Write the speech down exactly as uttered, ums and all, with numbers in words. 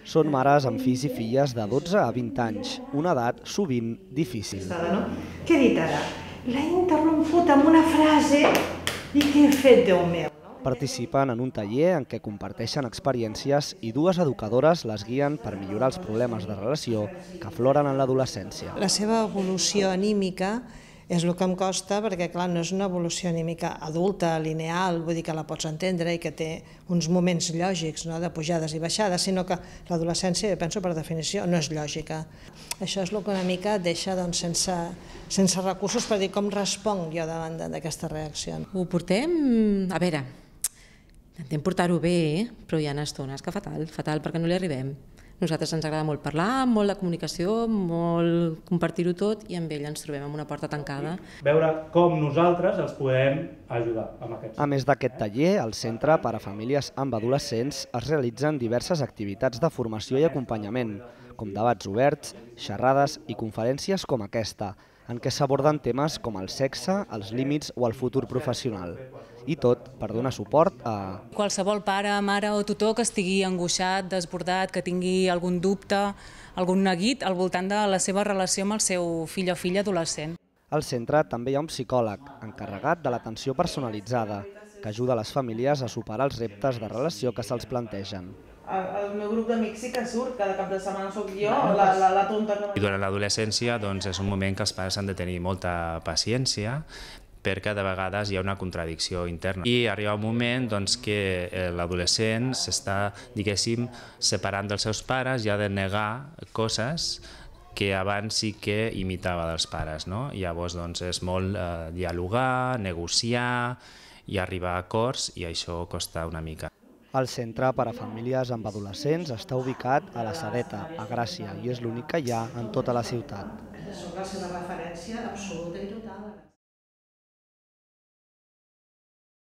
Són mares amb fills i filles de dotze a vint anys, una edat sovint difícil. Què he dit ara? L'he interromput amb una frase i què he fet, Déu meu? Participen en un taller en què comparteixen experiències i dues educadores les guien per millorar els problemes de relació que afloren en l'adolescència. La seva evolució anímica és el que em costa perquè, clar, no és una evolució anímica adulta, lineal, vull dir que la pots entendre i que té uns moments lògics, no?, de pujades i baixades, sinó que l'adolescència, jo penso per definició, no és lògica. Això és el que una mica et deixa doncs, sense, sense recursos per dir com responc jo davant d'aquesta reacció. Ho portem, a veure, intentem portar-ho bé, però hi ha estones que fatal, fatal perquè no li arribem. A nosaltres ens agrada molt parlar, molt de comunicació, molt compartir-ho tot i amb ell ens trobem amb una porta tancada. Veure com nosaltres els podem ajudar amb aquest. A més d'aquest taller, al Centre per a Famílies amb Adolescents es realitzen diverses activitats de formació i acompanyament, com debats oberts, xerrades i conferències com aquesta, en què s'aborden temes com el sexe, els límits o el futur professional. I tot per donar suport a... Qualsevol pare, mare o tutor que estigui angoixat, desbordat, que tingui algun dubte, algun neguit al voltant de la seva relació amb el seu fill o filla adolescent. Al centre també hi ha un psicòleg encarregat de l'atenció personalitzada, que ajuda les famílies a superar els reptes de relació que se'ls plantegen. El meu grup d'amics sí que surt, cada cap de setmana soc jo, la, la, la tonta que... I durant l'adolescència doncs, és un moment que els pares han de tenir molta paciència, perquè de vegades hi ha una contradicció interna. I arriba un moment doncs, que l'adolescent s'està, diguéssim, separant dels seus pares i ha de negar coses que abans sí que imitava dels pares, no? Llavors doncs, és molt eh, dialogar, negociar i arribar a acords, i això costa una mica. El Centre per a Famílies amb Adolescents està ubicat a la Sedeta, a Gràcia, i és l'únic que hi ha en tota la ciutat. Són la seva referència absoluta i total.